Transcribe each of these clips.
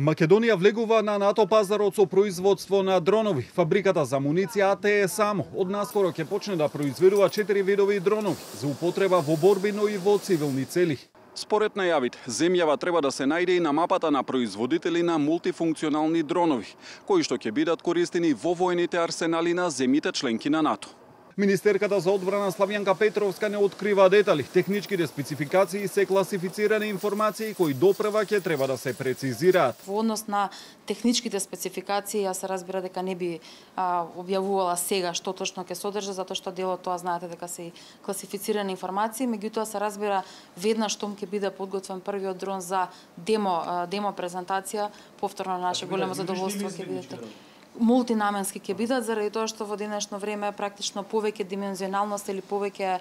Македонија влегува на НАТО пазарот со производство на дронови. Фабриката за амуниција АТЕ само од наскоро ќе почне да произведува 4 видови дронови за употреба во борби, но и во цивилни цели. Според најавите, земјава треба да се најде и на мапата на производители на мултифункционални дронови, кои што ќе бидат користени во војните арсенали на земјите членки на НАТО. Министерката за одбрана Славјанка Петровска не открива детали. Техничките спецификации се класифицирани информации кои допрева ќе треба да се прецизираат. Во однос на техничките спецификации, јас се разбира дека не би објавувала сега што точно ќе содржи, затоа што дел од тоа знаете дека се класифицирани информации, меѓутоа се разбира веднаш штом ќе биде подготвен првиот дрон за демо презентација, повторно на наше големо задоволство ќе бидете. Мултинаменски ќе бидат, заради тоа што во денешно време практично повеќе димензионалност или повеќе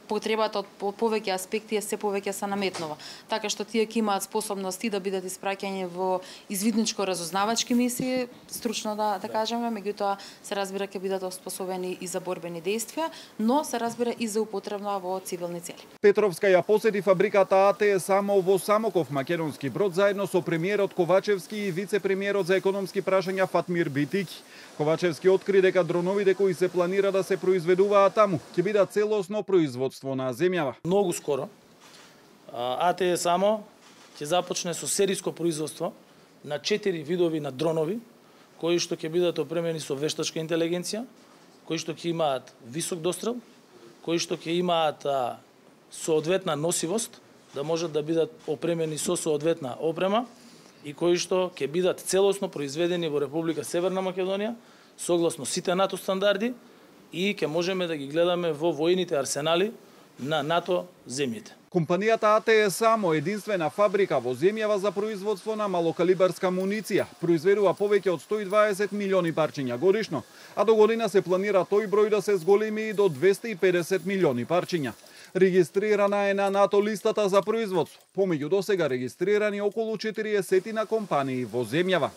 потребата од повеќе аспекти се повеќе се наметнува. Така што тие ќе имаат способности да бидат испраќани во извидничко-разузнавачки мисии, стручно да кажеме, меѓутоа се разбира ќе бидат оспособени и за борбени действија, но се разбира и за употреба во цивилни цели. Петровска ја посети фабриката АТЕ само во Самоков, македонски брод, заедно со премиерот Ковачевски и вице-премиерот за економски прашања Фатмир Битики. Ковачевски откри дека дроновите кои се планира да се произведуваат таму ќе бидат целосно производство на земјава. Многу скоро АТЕ само ќе започне со сериско производство на 4 видови на дронови кои што ќе бидат опремени со вештачка интелигенција, кои што ќе имаат висок дострел, кои што ќе имаат соодветна носивост, да можат да бидат опремени со соодветна опрема и кои што ќе бидат целосно произведени во Република Северна Македонија согласно сите НАТО стандарди и ќе можеме да ги гледаме во војните арсенали на НАТО земјите. Компанијата АТЕ само единствена фабрика во земјава за производство на малокалибарска амуниција. Произведува повеќе од 120 милиони парчиња годишно, а до година се планира тој број да се зголеми и до 250 милиони парчиња. Регистрирана е на НАТО листата за производство, помеѓу досега регистрирани околу 40 компании во земјава.